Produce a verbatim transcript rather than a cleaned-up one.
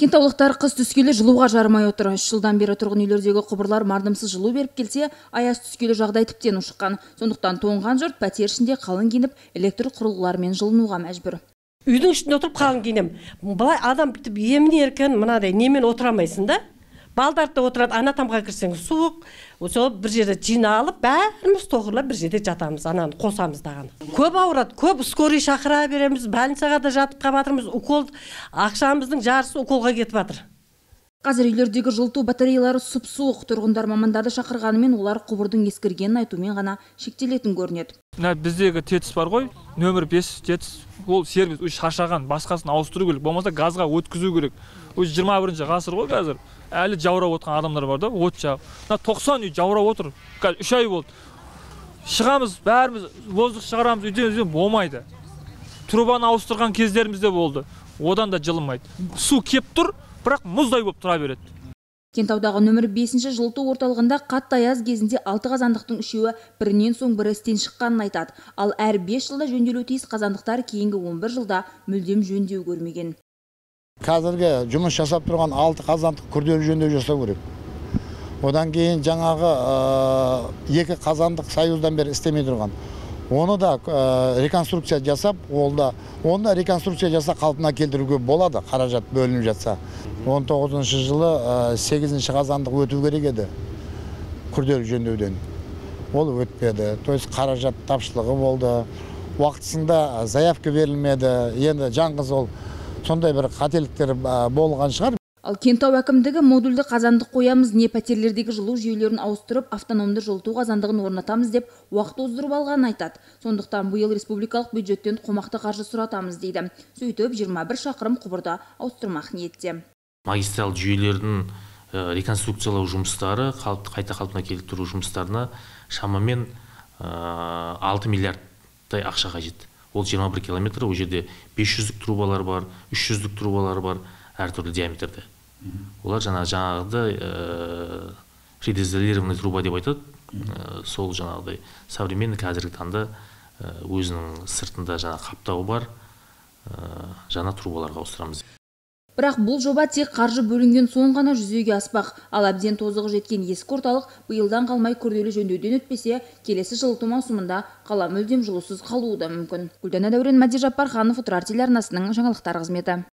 Кентаулықтар қыс түскелі жылуға жармай отыр. Үш жылдан бері тұрғын үйлердегі құбырлар мардымсыз жылу беріп келсе, аяз түскелі жағдай тіптен ушыққан. Сондықтан тоңған жұрт пәтер ішінде қалың киініп, электр құрылғыларымен жылынуға мәжбүр. Үйдің ішінде отырып қалың киінем. Былай адам бітіп емін еркін мынадай немен отырамайсың да. Балдарда отырады, ана тамға кірсең суық, сол бір жерде жиналып, бәріміз тоғырлап бір жерде жатамыз, ананы қосамыз даған. Көп ауырады, көп скорый шақыра береміз, больницаға да жатып қалатырмыз, укол, ақшамыздың жарысы уколға кетіп жатыр. Қазір үйлердегі жылыту батареялары сұп-суық. Тұрғындар мамандарды шақырғанымен олар құбырдың ескіргенін айтумен ғана шектелетін көрінеді. Біздегі тетіс бар ғой, нөмір бес тетіс, ол сервис үш шашаған, басқасын ауыстыру керек, болмаса газға өткізу керек. Өз жиырма бірінші ғасыр ғой қазір. Әлі жаурап отқан адамдар бар да, от жағып. тоқсан үй жаурап отыр. Үш ай болды. Шығамыз, бәріміз воздух шығарамыз, үйден болмайды. Трубаны ауыстырған кездеріміз де болды. Одан да жылынмайды. Су кеп тұр, бірақ мұздай болып тұра береді. Кентаудағы нөмір бесінші жылыту орталығында қатты аяз кезінде алты қазандықтың үшеуі бірінен соң бірі істен шыққанын айтады. Ал әр бес жылда жөнделуі тиіс қазандықтар кейінгі он бір жылда мүлдем жөндеу көрмеген. Қазіргі жұмыс жасап тұрған алты қазандық күрделі жөндеу жасау керек. Одан кейін жаңағы екі қазандық союздан бері істемей тұрған. Оны да реконструкция жасап, оны да реконструкция жасап қалпына келтіруге болады, қаражат бөлініп жатса. он тоғызыншы жылы сегізінші қазандық өту керек еді күрделі жөндеуден. Ол өтпеді. То есть қаражат тапшылығы болды. Уақытысында заявка берілмеді. Енді жаңғыз ол сондай бір қателіктер болған шығар. Ал Кентау әкімдігі модульді қазандық қоямыз, не пәтерлердегі жылу жүйелерін ауыстырып, автономды жылыту қазандығын орнатамыз деп уақыт оздырып алғанын айтады. Сондықтан биыл республикалық бюджеттен қомақты қаржы сұратамыз дейді. Сөйтіп жиырма бір шақырым құбырды ауыстырмақ ниетте. Магистрал жүйелердің реконструкциялау жұмыстары, қайта қалпына келтіру жұмыстарына шамамен алты миллиардтай ақша қажет. Ол жиырма бір километр, ол жерде бес жүздік трубалар бар, үш жүздік трубалар бар, әртүрлі диаметрде. Олар жаңағыдай предизолированный труба деп айтады. Сол жаңағыдай современный қазіргі таңда өзінің сыртында жаңа қаптауы бар жаңа трубаларға ауыстырамыз. Бірақ бұл жоба тек қаржы бөлінген соң ғана жүзеге аспақ. Ал әбден тозығы жеткен ескі орталық биылдан қалмай күрделі жөндеуден өтпесе, келесі жылыту маусымында қала мүлдем жылусыз қалуы да мүмкін. Гүлдана Дәурен, Мәди Жаппарханов, Отырар телеарнасының жаңалықтар қызметі.